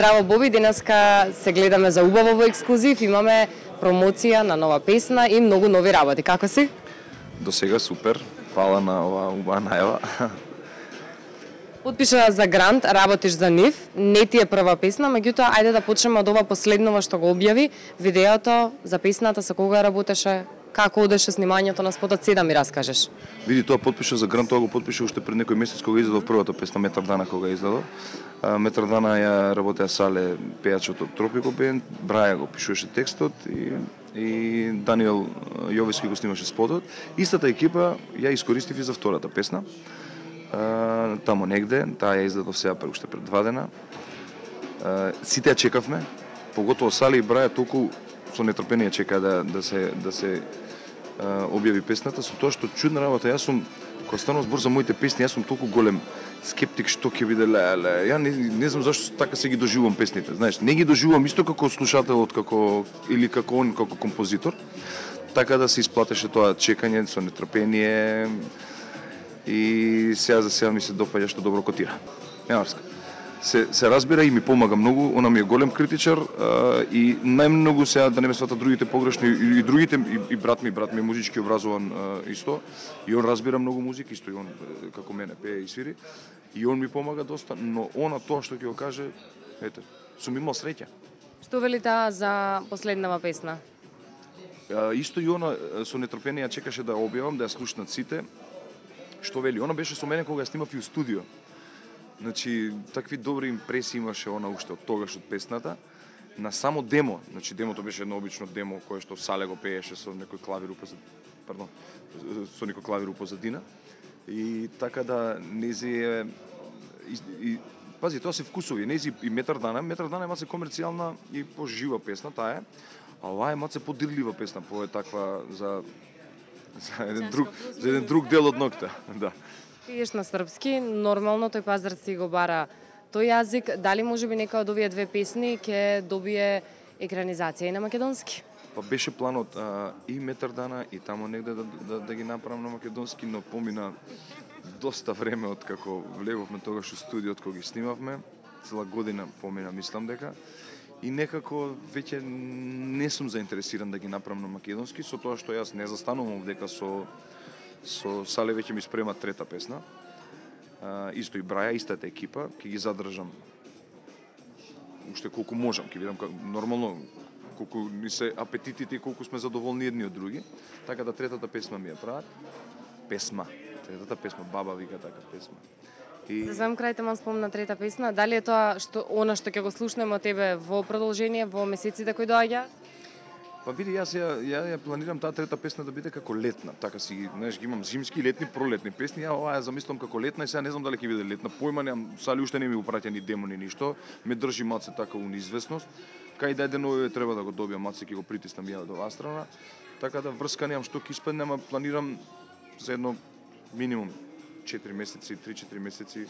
Здраво Боби, денеска се гледаме за убаво во ексклузив, имаме промоција на нова песна и многу нови работи. Како си? До сега супер, фала на оваа убава најава. Потпиша за грант, работиш за нив, не ти е прва песна, меѓутоа ајде да почнеме од ова последново што го објави, видеото за песната, со кога работеше, како одеше снимањето на спотот, се да ми раскажеш. Види, тоа потпиша за грант, тоа го потпиша уште пред некој месец кога издаде првата песна Метар дана кога издаде. Метар дана ја работеа Сале, пејачот од Тропико бенд, Браја го пишуваше текстот и Даниел Јовиски го снимаше спотот. Истата екипа ја искористив и за втората песна. Тамо негде, таа ја издадов сега уште пред 2 дена. Сите ја чекавме, поготово Сале и Браја толку со нетрпение чекаа да се објави песната, со тоа што чудна работа. Јас сум, кога станува збор за моите песни, јас сум толку голем скептик што ќе биде леле. Ја не знам зашто така се ги доживувам песните. Знаеш, не ги доживувам исто како слушателот, или како он, како композитор. Така да се исплатеше тоа чекање со нетрпение и сега за сега ми се допаѓа што добро котира. Јаварска. Се разбира и ми помага многу, она ми е голем критичар и најмногу сега да не ме сватат другите погрешно и другите и брат ми е музички образован исто и он разбира многу музика исто и он како мене пее и свири и он ми помага доста, но она тоа што ќе го каже, ете, сум имал среќа. Што вели таа за последнава песна? Исто и она со нетрпение чекаше да објавам, да ја слушнат сите. Што вели? Она беше со мене кога ја снимав и у студио. Значи, такви добри импресии имаше она уште од тогаш од песната. На само демо, значи демото беше едно обично демо кое што Сале го пееше со некој клавир со некој клавир позадина. И така да нези е пази, тоа се вкусови, нези и Метар дана е малце комерцијална и пожива песна, таа е. А оваа е малце подирлива песна, по таква за еден друг дел од ноќта, да. Пиеш на српски, нормално тој пазар си го бара тој јазик, дали можеби нека од овие две песни ќе добие екранизација и на македонски? Па беше планот и Метар дана и тамо негде да ги направам на македонски, но помина доста време од како влеговме тогаш у студиот кога ги снимавме, цела година помина, мислам дека, и некако веќе не сум заинтересиран да ги направам на македонски, со тоа што јас не застанувам дека со Сале веќе ми спрема трета песна. Исто и Браја, истата екипа, ќе ги задржам уште колку можам, ќе видам нормално колку ни се апетитите и колку сме задоволни едни од други. Така да третата песна ми ја прават. Третата песма, баба вика така песма. За сам крај те спомна трета песна, дали е тоа што ќе го слушнеме од тебе во продолжение во месеците кои доаѓаат? Па види, јас ја планирам таа трета песна да биде како летна, така си, знаеш, ги имам зимски, летни, пролетни песни, ја оваа ја замислам како летна и сега не знам дали ќе биде летна, појма немам, Сали уште не ми упраќа ни демо ни ништо, ме држи малце така у неизвестност, кај да денови треба да го добијам, малце ќе го притиснам ја од оваа страна, така да врска немам што ќе испадне, ама планирам за едно минимум 4 месеци, 3-4 месеци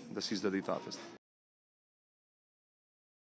да се издаде и таа песна.